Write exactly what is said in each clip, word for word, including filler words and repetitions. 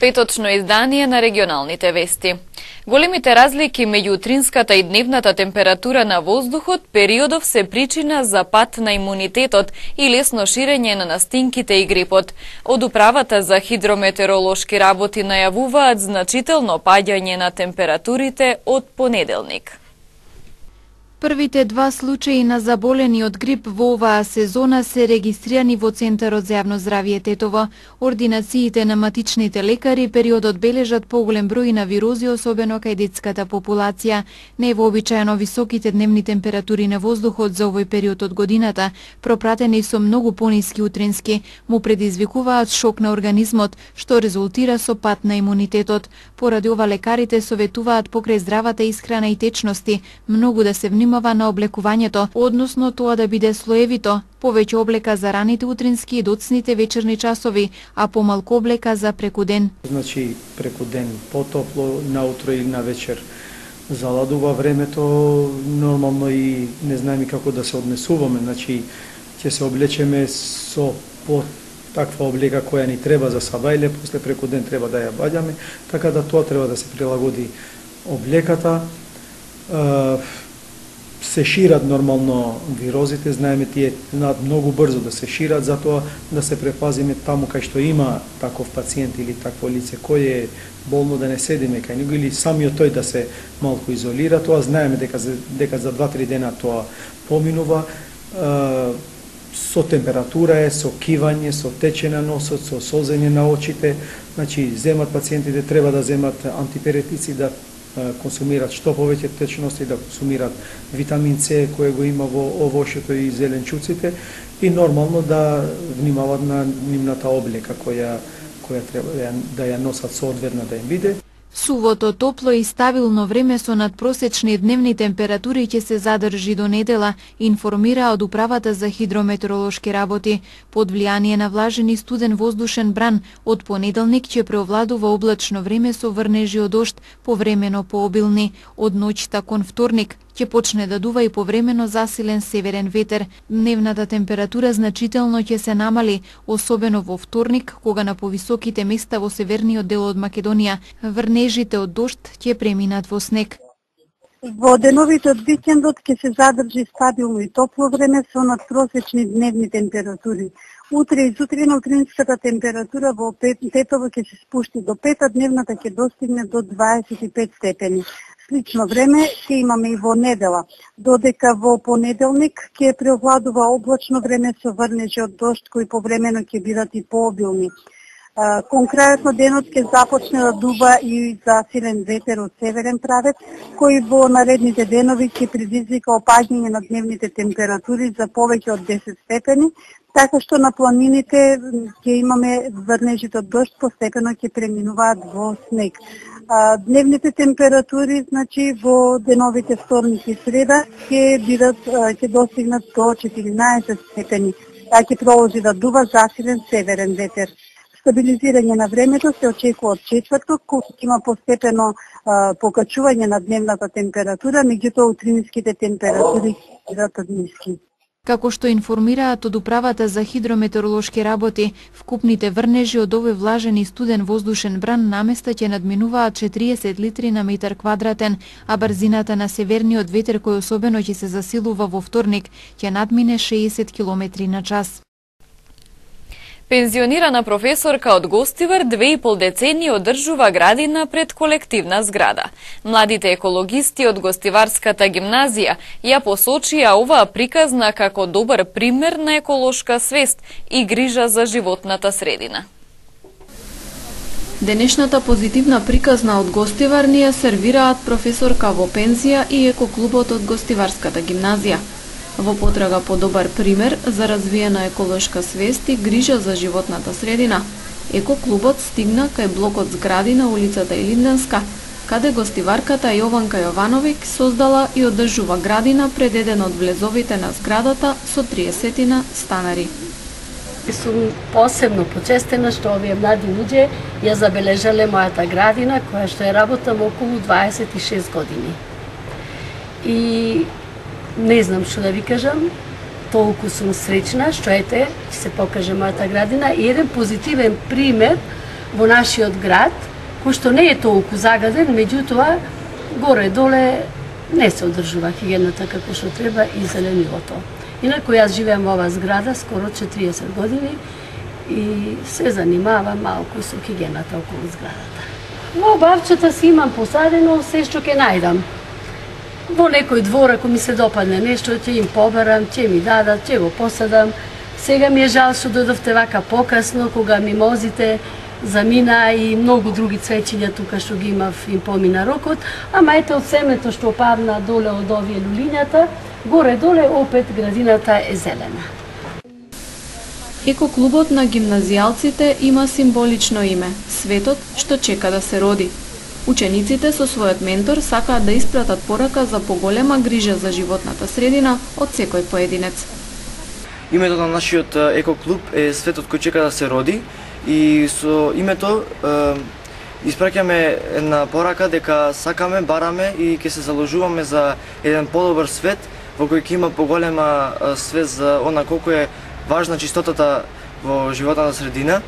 петочно издание на регионалните вести. Големите разлики меѓу утринската и дневната температура на воздухот периодов се причина за пат на имунитетот и лесно ширење на настинките и грипот. Од управата за хидрометеоролошки работи најавуваат значително паѓање на температурите од понеделник. Првите два случаи на заболени од грип во оваа сезона се регистрирани во Центарот за јавно здравје Тетово. Ординациите на матичните лекари периодот бележат поголем број на вирози, особено кај детската популација. Невообичаено високите дневни температури на воздухот за овој период од годината, пропратени со многу пониски утрински, му предизвикуваат шок на организмот, што резултира со пат на имунитетот. Поради ова лекарите советуваат покрај здравата исхрана и течности многу да се внимава на облекувањето, односно тоа да биде слоевито, повеќе облека за раните утрински и доцните вечерни часови, а помалку облека за преку ден. Значи преку ден потопло, наутро или на вечер заладува времето, нормално и не знаеме како да се однесуваме, значи ќе се облечеме со по таква облека која ни треба за сабајле, после преку ден треба да ја баѓаме, така да тоа треба да се прилагоди облеката. Се шират нормално вирозите, знаеме тие знаат многу брзо да се шират, затоа да се препазиме таму кај што има таков пациент или такво лице кој е болно, да не седиме кај него или самиот тој да се малку изолира. Тоа знаеме дека дека за два-три дена тоа поминува. Со температура е, со кивање, со тече на носот, со созење на очите. Значи земат пациентите треба да земат антипиретици, да консумират што повеќе течности, да консумират витамин С кој го има во овошето и зеленчуците и нормално да внимават на нивната облека која која треба да ја, да ја носат соодветно да им биде. Сувото, топло и стабилно време со надпросечни дневни температури ќе се задржи до недела, информира од управата за хидрометеоролошки работи. Под влијание на влажен и студен воздушен бран, од понеделник ќе преовладува облачно време со врнежи од дожд, повремено пообилни. Од ноќта кон вторник ќе почне да дува и повремено засилен северен ветер. Дневната температура значително ќе се намали, особено во вторник, кога на повисоките места во северниот дел од Македонија врнежите од дожд ќе преминат во снег. Во деновите од викендот ќе се задржи стабилно и топло време со надпросечни дневни температури. Утре и сутрина утринската температура во Тетово ќе се спушти до пет, а дневната ќе достигне до дваесет и пет степени. Слично време ќе имаме и во недела, додека во понеделник ќе преовладува облачно време со врнежи од дожд кои повремено ќе бидат и пообилни. Конкретно денот ќе започне да дува и засилен ветер од северен правец, кој во наредните денови ќе предизвика опаѓање на дневните температури за повеќе од десет степени, така што на планините ќе имаме врнежите од дожд постепено ќе преминуваат во снег. Дневните температури, значи во деновите вторник и среда ќе бидат ќе достигнат до четиринаесет степени. Таа ќе продолжи да дува засилен северен ветер. Стабилизирање на времето се очекува од четврток, кога ќе има постепено а, покачување на дневната температура, меѓутоа утринските температури ќе бидат ниски. Како што информираат од управата за хидрометеоролошки работи, вкупните врнежи од овој влажен и студен воздушен бран наместа ќе надминуваат четириесет литри на метар квадратен, а брзината на северниот ветер кој особено ќе се засилува во вторник ќе надмине шеесет километри на час. Пензионирана професорка од Гостивар две и пол децении одржува градина пред колективна зграда. Младите екологисти од Гостиварската гимназија ја посочија оваа приказна како добар пример на еколошка свест и грижа за животната средина. Денешната позитивна приказна од Гостивар ни ја сервираат професорка во пензија и екоклубот од Гостиварската гимназија. Во потрага по добар пример за развиена еколошка свест и грижа за животната средина, екоклубот стигна кај блокот згради на улицата Илинденска, каде гостиварката Јованка Јовановиќ создала и одржува градина пред еден од влезовите на зградата со триесетина станари. Сум посебно почестена што овие млади луѓе ја забележале мојата градина, која што ја работам околу дваесет и шест години. И не знам што да ви кажам, толку сум среќна што ете, ќе се покаже мојата градина и еден позитивен пример во нашиот град, кој што не е толку загаден, меѓутоа горе-доле не се одржува хигиената како што треба и зеленилото. Инаку јас живеам во оваа зграда скоро четириесет години и се занимавам малку со хигиената околу зградата. Во бавчата си имам посадено се што ќе најдам. Во некој двор, ако ми се допадне нешто, ќе им побарам, ќе ми дадат, ќе го посадам. Сега ми е жал што дојдовте вака покасно, кога мимозите замина и многу други цвеќиња тука што ги имав им помина рокот, ама ете од семето што падна доле од овие лулињата, горе-доле опет градината е зелена. Екоклубот на гимназијалците има символично име – Светот што чека да се роди. Учениците со својот ментор сакаат да испратат порака за поголема грижа за животната средина од секој поединец. Името на нашиот екоклуб е Светот кој чека да се роди и со името е, испраќаме една порака дека сакаме, бараме и ќе се заложуваме за еден подобар свет во кој ќе има поголема свест за она колку е важна чистотата во животната средина.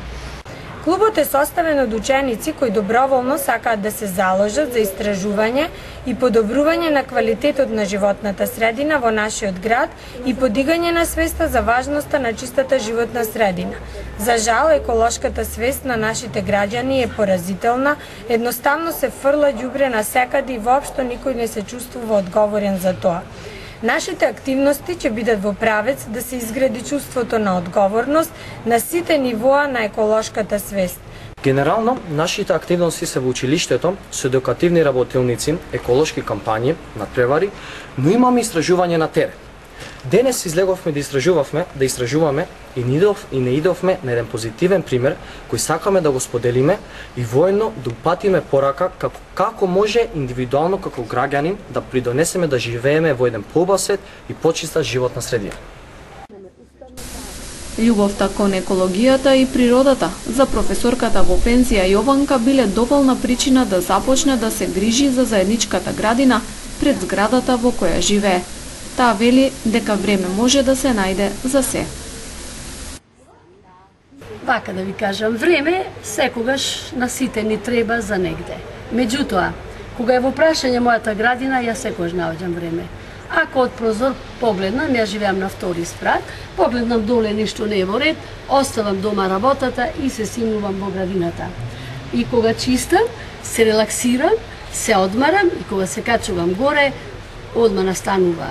Клубот е составен од ученици кои доброволно сакаат да се заложат за истражување и подобрување на квалитетот на животната средина во нашиот град и подигање на свеста за важноста на чистата животна средина. За жал, еколошката свест на нашите граѓани е поразителна, едноставно се фрла ѓубре насекаде и воопшто никој не се чувствува одговорен за тоа. Нашите активности ќе бидат во правец да се изгради чувството на одговорност на сите нивоа на еколошката свест. Генерално, нашите активности се во училиштето, со едукативни работилници, еколошки кампањи, надпревари, но имаме истражување на терен. Денес излеговме да истражувавме, да истражуваме и не, идов, и не идовме на еден позитивен пример кој сакаме да го споделиме и воедно да упатиме порака како, како може индивидуално како граѓанин да придонесеме да живееме во еден поубав свет и почиста животна средина. Љубовта кон екологијата и природата за професорката во пензија Јованка биле доволна причина да започне да се грижи за заедничката градина пред зградата во која живее. Таа вели дека време може да се најде за се. Вака да ви кажам, време секогаш на сите ни треба за негде. Меѓутоа, кога е во прашање мојата градина, ја секогаш наоѓам време. Ако од прозор погледнам, ја живеам на втори спрат, погледнам доле ништо не е во ред, оставам дома работата и се симнувам во градината. И кога чистам, се релаксирам, се одмарам и кога се качувам горе, одма настанува,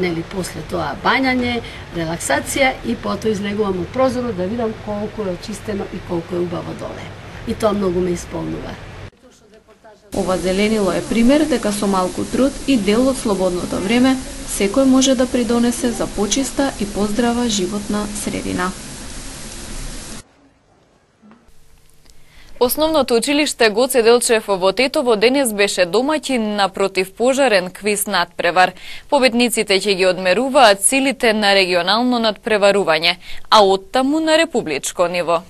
нели, после тоа бањање, релаксација и потоа излегувам од прозорот да видам колку е очистено и колку е убаво доле. И тоа многу ме исполнува. Ова зеленило е пример дека со малку труд и дел од слободното време секој може да придонесе за почиста и поздрава животна средина. Основното училиште Гоце Делчев во Тетово денес беше домаќин на противпожарен квиз надпревар. Победниците ќе ги одмеруваат силите на регионално надпреварување, а оттаму на републичко ниво.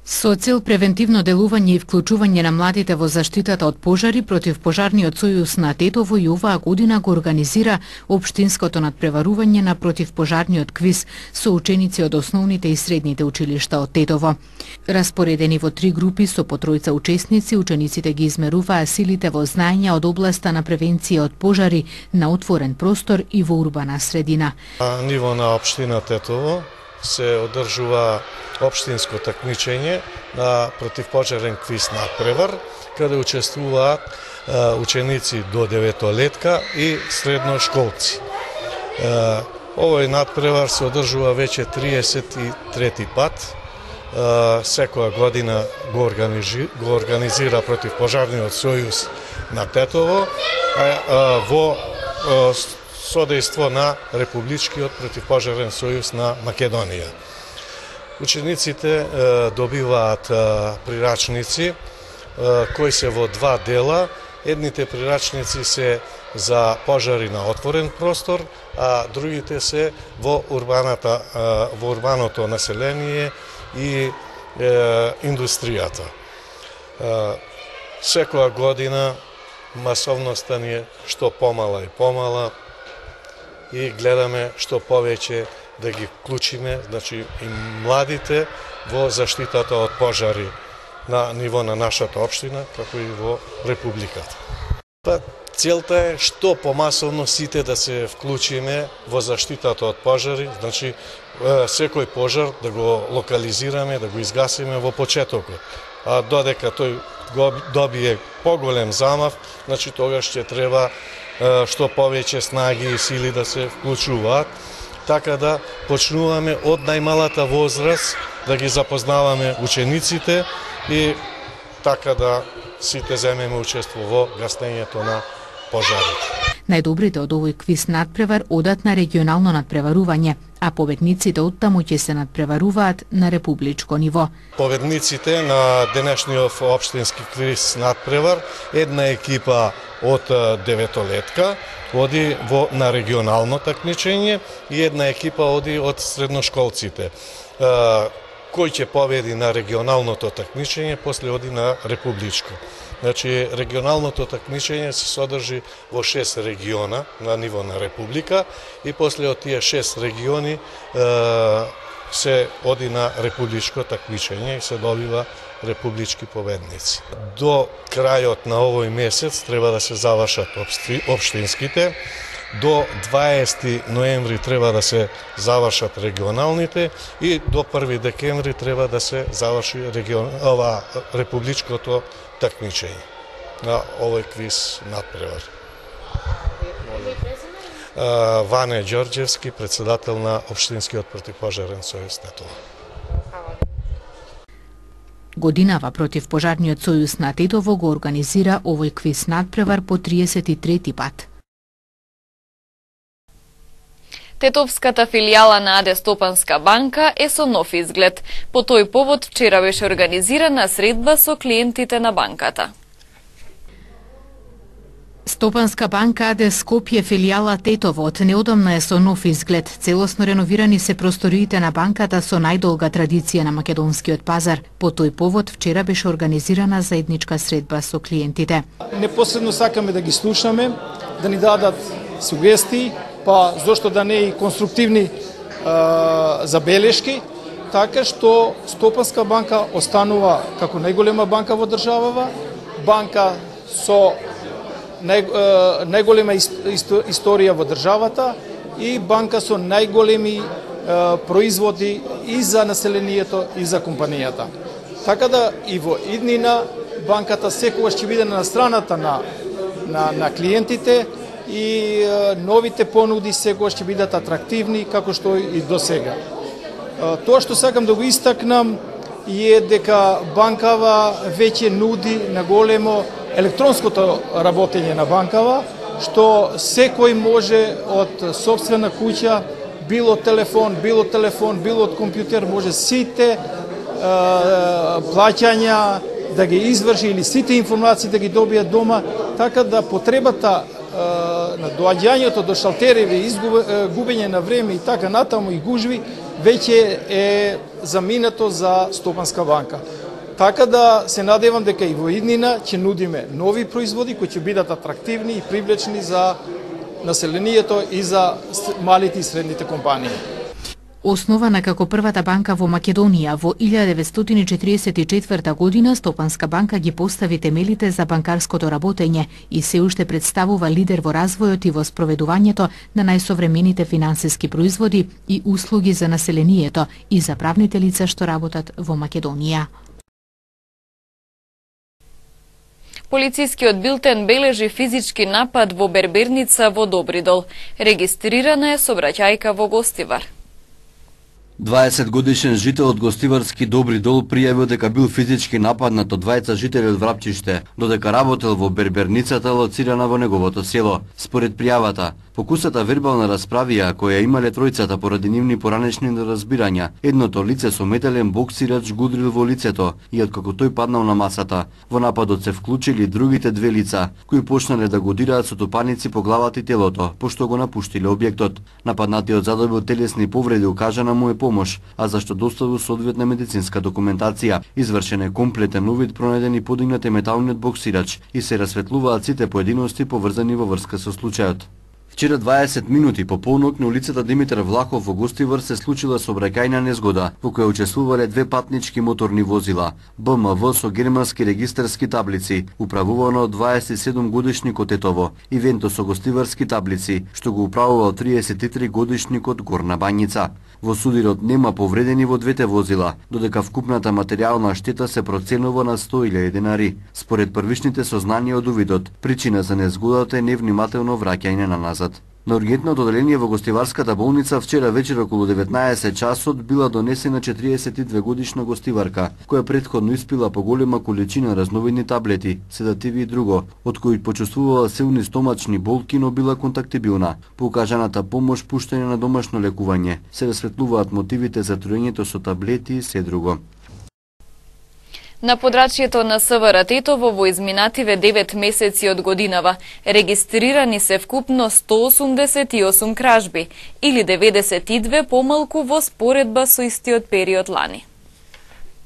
Со цел превентивно делување и вклучување на младите во заштитата од пожари, противпожарниот сојуз на Тетово и оваа година го организира општинското надпреварување на противпожарниот квиз со ученици од основните и средните училишта од Тетово. Распоредени во три групи со по тројца учесници, учениците ги измеруваа силите во знаења од областа на превенција од пожари на отворен простор и во урбана средина. На ниво на општина Тетово се одржува општинско такмичење на противпожарен квиз надпревар, каде учествуваат ученици до деветолетка и средношколци. Овој надпревар се одржува веќе триесет и трети пат. Секоја година го, организи, го организира противпожарниот сојуз на Тетово во содејство на Републичкиот противпожарен сојуз на Македонија. Учениците е, добиваат е, прирачници е, кои се во два дела. Едните прирачници се за пожари на отворен простор, а другите се во урбаната е, во урбаното население и е, индустријата. Е, секоја година масовноста ни е што помала и помала и гледаме што повеќе да ги вклучиме, значи и младите во заштитата од пожари на ниво на нашата општина, како и во Републиката. Па, целта е што помасовно сите да се вклучиме во заштитата од пожари, значи секој пожар да го локализираме, да го изгасиме во почетокот. А додека тој го добие поголем замав, значи тогаш ќе треба што повеќе снаги и сили да се вклучуваат, така да почнуваме од најмалата возраст да ги запознаваме учениците и така да сите земеме учество во гаснењето на пожарите. Најдобрите од овој квиз надпревар одат на регионално надпреварување, а победниците оттаму ќе се надпреваруваат на републичко ниво. Победниците на денешниот општински квиз надпревар, една екипа од деветолетка оди во на регионално такмичење и една екипа оди од средношколците. Кој ќе победи на регионалното такмичење, после оди на републичко. Значи, регионалното такмичење се содржи во шест региона на ниво на република и после од тие шест региони е, се оди на републичко такмичење и се добива републички победници. До крајот на овој месец треба да се завршат општинските, до дваесети ноември треба да се завршат регионалните и до први декември треба да се заврши регион, ова републичкото такмичење на овој квиз надпревар. Ване Ѓорѓевски, председател на Општинскиот противпожарен сојуз на Тетово. Годинава противпожарниот сојуз на Тетово го организира овој квиз надпревар по триесет и трети пат. Тетовската филијала на АД Стопанска банка е со нов изглед. По тој повод вчера беше организирана средба со клиентите на банката. Стопанска банка АД Скопје филијала Тетово од неодамна е со нов изглед. Целосно реновирани се просториите на банката со најдолга традиција на македонскиот пазар. По тој повод вчера беше организирана заедничка средба со клиентите. Непосредно сакаме да ги слушаме, да ни дадат сугестии, па зошто да не и конструктивни а, забелешки, така што Стопанска банка останува како најголема банка во државава, банка со нај, а, најголема историја во државата и банка со најголеми а, производи и за населението и за компанијата. Така да и во иднина банката секогаш ќе биде на страната на, на, на клиентите и е, новите понуди секогаш ќе бидат атрактивни како што и до сега. Е, тоа што сакам да го истакнам е дека банкава веќе нуди на големо електронското работење на банкава, што секој може од сопствена куќа, било телефон, било телефон, било од компјутер, може сите е, плаќања да ги изврши или сите информации да ги добијат дома, така да потребата на доаѓањето до шалтереви, изгубење на време и така натаму и гужви, веќе е заминато за Стопанска банка. Така да се надевам дека и во иднина ќе нудиме нови производи кои ќе бидат атрактивни и привлечни за населението и за малите и средните компании. Основана како првата банка во Македонија во илјада деветстотини и четиридесет и четврта година, Стопанска банка ги постави темелите за банкарското работење и се уште представува лидер во развојот и во спроведувањето на најсовремените финансиски производи и услуги за населението и за правните лица што работат во Македонија. Полицискиот билтен бележи физички напад во берберница во Добридол. Регистрирана е сообраќајка во Гостивар. дваесет годишен жител од Гостиварски Добридол пријавил дека бил физички нападнат од двајца жители од Врапчиште, додека работел во берберницата лоцирана во неговото село. Според пријавата, покусата вербална расправија која имале тројцата поради нивни поранешни неразбирања, едното лице со метален боксирач гудрил во лицето и откако тој паднал на масата, во нападот се вклучили другите две лица, кои почнале да го дираат со тупаници по главата и телото, пошто го напуштиле објектот. Нападнатиот задобил телесни повреди, укажана му е помош, а зашто доставил соодветна медицинска документација. Извршен е комплетен увид, пронеден и подигнат е металниот боксирач и се расветлуваат сите поединости поврзани во врска со случајот. Вчера дваесет минути по полнок на улицата Димитар Влахов во Гостивар се случила сообраќајна незгода во која учествувале две патнички моторни возила Б М В со германски регистарски таблици, управувано од дваесет и седум годишникот Тетово, и Венто со гостиварски таблици, што го управувал триесет и три годишникот Горна Бањица. Во судирот нема повредени во двете возила, додека вкупната материјална штета се проценува на сто илјади денари. Според првичните сознанија од увидот, причина за незгодата е невнимателно враќање на назад. На ургентното оделение во Гостиварската болница вчера вечер околу деветнаесет часот била донесена четириесет и две годишна гостиварка, која претходно испила поголема количина разновидни таблети, седативи и друго, од кои почувствувала силни стомачни болки, но била контактибилна. По укажаната помош пуштање на домашно лекување, се расветлуваат мотивите за труењето со таблети и се друго. На подрачјето на С В Р Тетово во изминативе девет месеци од годинава регистрирани се вкупно сто осумдесет и осум кражби, или деветдесет и две помалку во споредба со истиот период лани.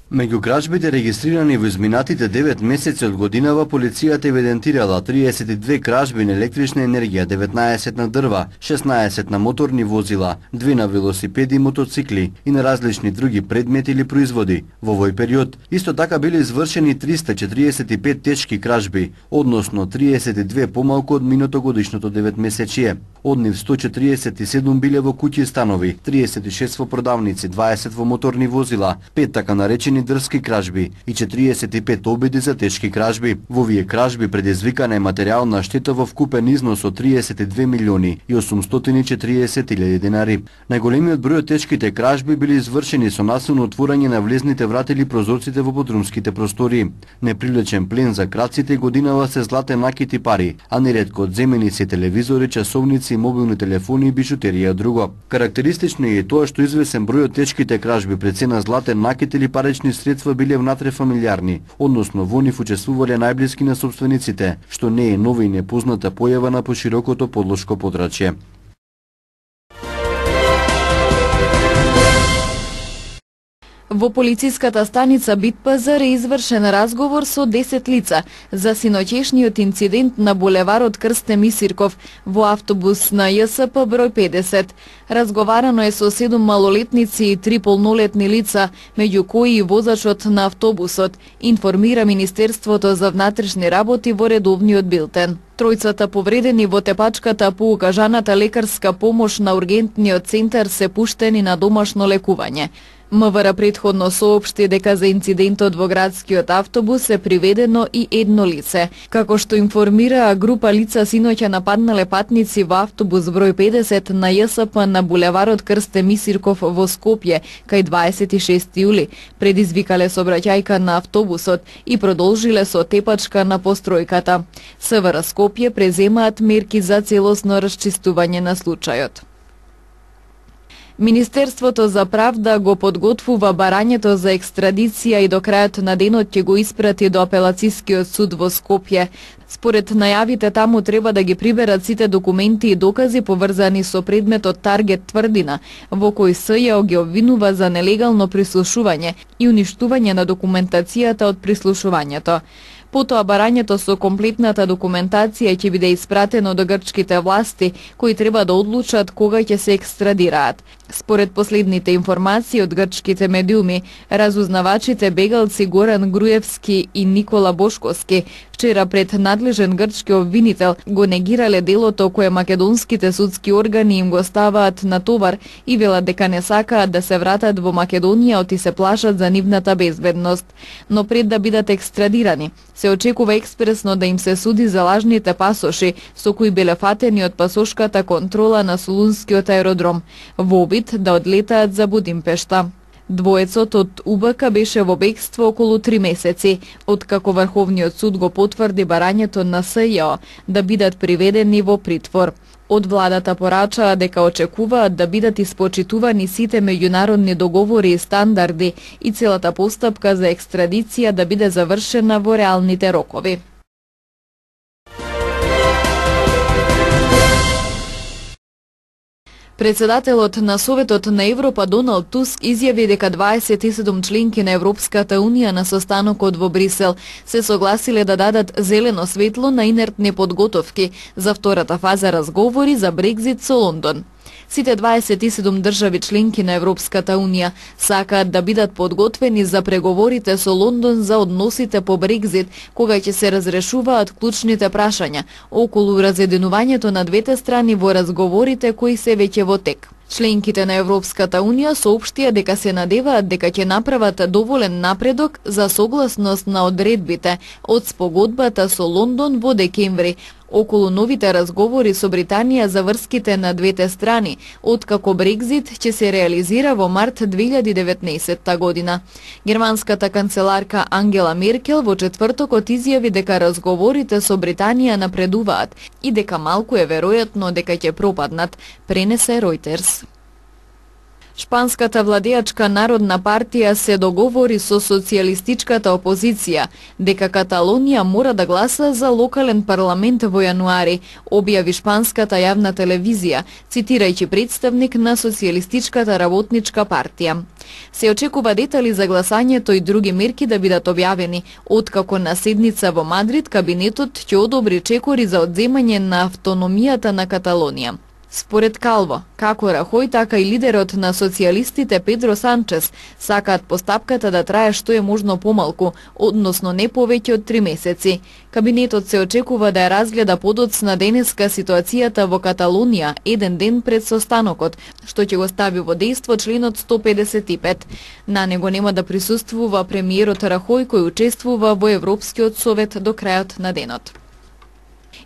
Меѓу кражбите регистрирани во изминатите девет месеци од годинава, полицијата евидентирала триесет и две кражби на електрична енергија, деветнаесет на дрва, шеснаесет на моторни возила, две на велосипеди и мотоцикли и на различни други предмети или производи. Во овој период исто така биле извршени триста четириесет и пет тешки кражби, односно триесет и две помалку од минатогодишното деветмесечие. Од нив сто четириесет и седум биле во куќи и станови, триесет и шест во продавници, дваесет во моторни возила, пет така наречени дрски кражби и четириесет и пет обиди за тешки кражби. Во овие кражби предизвикана е материјална штета во вкупен износ од триесет и две милиони и осумстотини и четириесет илјади денари. Најголемиот број од тешките кражби били извршени со насилно отворање на влезните врати или прозорците во подрумските простори. Неприлечен плен за крадците годинава се златен накити пари, а неретко одземени се телевизори, часовници, мобилни телефони и бижутерија друго. Карактеристично е тоа што извесен број од тешките кражби пред цена златен накит или парични средства биле внатре-фамилиарни, односно во нив учествувале најблиски на собствениците, што не е нова и непозната појава на поширокото подлошко подрачје. Во полициската станица Битпазар е извршен разговор со десет лица за синоќешниот инцидент на булеварот Крсте Мисирков во автобус на Ј С П број педесет. Разговарано е со седум малолетници и три полнолетни лица, меѓу кои и возачот на автобусот, информира Министерството за внатрешни работи во редовниот билтен. Тројцата повредени во тепачката по укажаната лекарска помош на ургентниот центар се пуштени на домашно лекување. М В Р претходно соопшти дека за инцидентот во градскиот автобус е приведено и едно лице. Како што информираа група лица синоќа нападнале патници во автобус број педесет на Ј С П на булеварот Крсте Мисирков во Скопје, кај дваесет и шести јули, предизвикале сообраќајка на автобусот и продолжиле со тепачка на постројката. С В Р Скопје преземаат мерки за целосно расчистување на случајот. Министерството за правда го подготвува барањето за екстрадиција и до крајот на денот ќе го испрати до апелацискиот суд во Скопје. Според најавите, таму треба да ги приберат сите документи и докази поврзани со предметот Таргет Тврдина, во кој С Ј О ги обвинува за нелегално прислушување и уништување на документацијата од прислушувањето. Потоа барањето со комплетната документација ќе биде испратено до грчките власти, кои треба да одлучат кога ќе се екстрадираат. Според последните информации од грчките медиуми, разузнавачите бегалци Горан Груевски и Никола Бошковски вчера пред надлежен грчки обвинител го негирале делото кое македонските судски органи им го ставаат на товар и велат дека не сакаат да се вратат во Македонија оти се плашат за нивната безбедност. Но пред да бидат екстрадирани, се очекува експресно да им се суди за лажните пасоши со кои биле фатени од пасошката контрола на Солунскиот аеродром, во обид да одлетаат за Будимпешта. Двоецот од У Б К беше во бегство околу три месеци, откако Врховниот суд го потврди барањето на С Ј О да бидат приведени во притвор. Од владата порачаа дека очекуваат да бидат испочитувани сите меѓународни договори и стандарди и целата постапка за екстрадиција да биде завршена во реалните рокови. Председателот на Советот на Европа Доналд Туск изјави дека дваесет и седум членки на Европската Унија на состанокот во Брисел се согласиле да дадат зелено светло на инертни подготовки за втората фаза разговори за Брекзит со Лондон. Сите дваесет и седум држави членки на Европската Унија сакаат да бидат подготвени за преговорите со Лондон за односите по Брекзит, кога ќе се разрешуваат клучните прашања околу разединувањето на двете страни во разговорите кои се веќе во тек. Членките на Европската Унија соопштија дека се надеваат дека ќе направат доволен напредок за согласност на одредбите од спогодбата со Лондон во декември, околу новите разговори со Британија за врските на двете страни, откако Брекзит ќе се реализира во март две илјади и деветнаесетта година. Германската канцеларка Ангела Меркел во четвртокот изјави дека разговорите со Британија напредуваат и дека малку е веројатно дека ќе пропаднат, пренесе Reuters. Шпанската владеачка Народна партија се договори со социјалистичката опозиција дека Каталонија мора да гласа за локален парламент во јануари, објави шпанската јавна телевизија, цитирајќи представник на Социјалистичката работничка партија. Се очекува детали за гласањето и други мерки да бидат објавени, откако на седница во Мадрид кабинетот ќе одобри чекори за одземање на автономијата на Каталонија. Според Калво, како Рахој, така и лидерот на социјалистите Педро Санчес сакаат постапката да трае што е можно помалку, односно не повеќе од три месеци. Кабинетот се очекува да ја разгледа подоцна денеска ситуацијата во Каталонија еден ден пред состанокот, што ќе го стави во дејство членот сто педесет и пет. На него нема да присуствува премиерот Рахој, кој учествува во Европскиот совет до крајот на денот.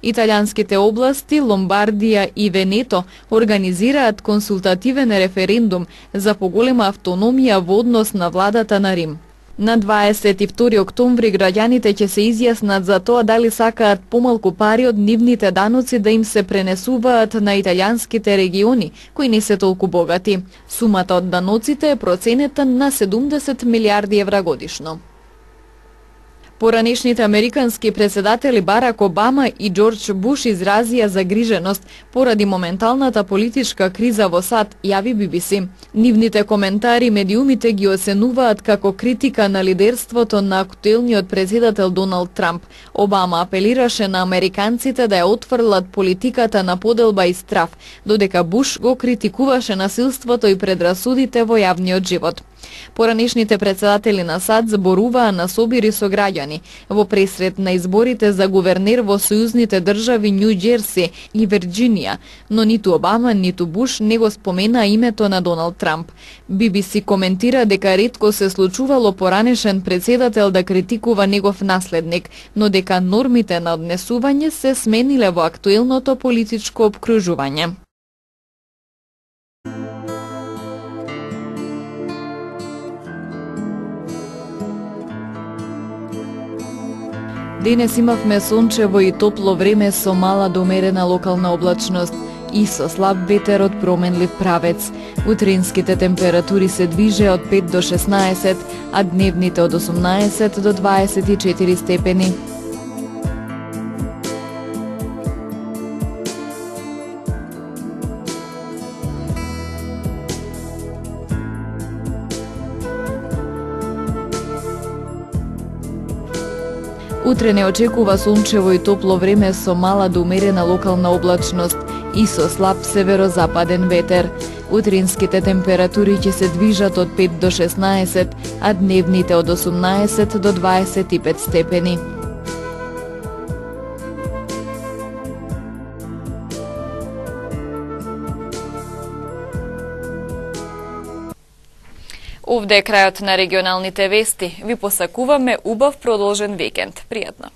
Италијанските области Ломбардија и Венето организираат консултативен референдум за поголема автономија во однос на владата на Рим. На дваесет и втори октомври граѓаните ќе се изјаснат за тоа дали сакаат помалку пари од нивните даноци да им се пренесуваат на италијанските региони, кои не се толку богати. Сумата од даноците е проценета на седумдесет милијарди евра годишно. Поранешните американски председатели Барак Обама и Џорџ Буш изразија загриженост поради моменталната политичка криза во САД, јави Би Би Си. Нивните коментари медиумите ги оценуваат како критика на лидерството на актуелниот председател Доналд Трамп. Обама апелираше на американците да ја отфрлат политиката на поделба и страф, додека Буш го критикуваше насилството и предрасудите во јавниот живот. Поранешните председатели на САД зборуваа на собири со граѓани во пресред на изборите за гувернер во сојузните држави Њу Џерси и Вирџинија, но ниту Обама, ниту Буш не го спомена името на Доналд Трамп. Би Би Си коментира дека ретко се случувало поранешен председател да критикува негов наследник, но дека нормите на однесување се смениле во актуелното политичко опкружување. Денес имавме сончево и топло време со мала до умерена локална облачност и со слаб ветер од променлив правец. Утринските температури се движе од пет до шеснаесет, а дневните од осумнаесет до дваесет и четири степени. Утре не очекува сончево и топло време со мала до умерена локална облачност и со слаб северозападен ветер. Утринските температури ќе се движат од пет до шеснаесет, а дневните од осумнаесет до дваесет и пет степени. Овде е крајот на регионалните вести. Ви посакуваме убав продолжен викенд. Пријатно!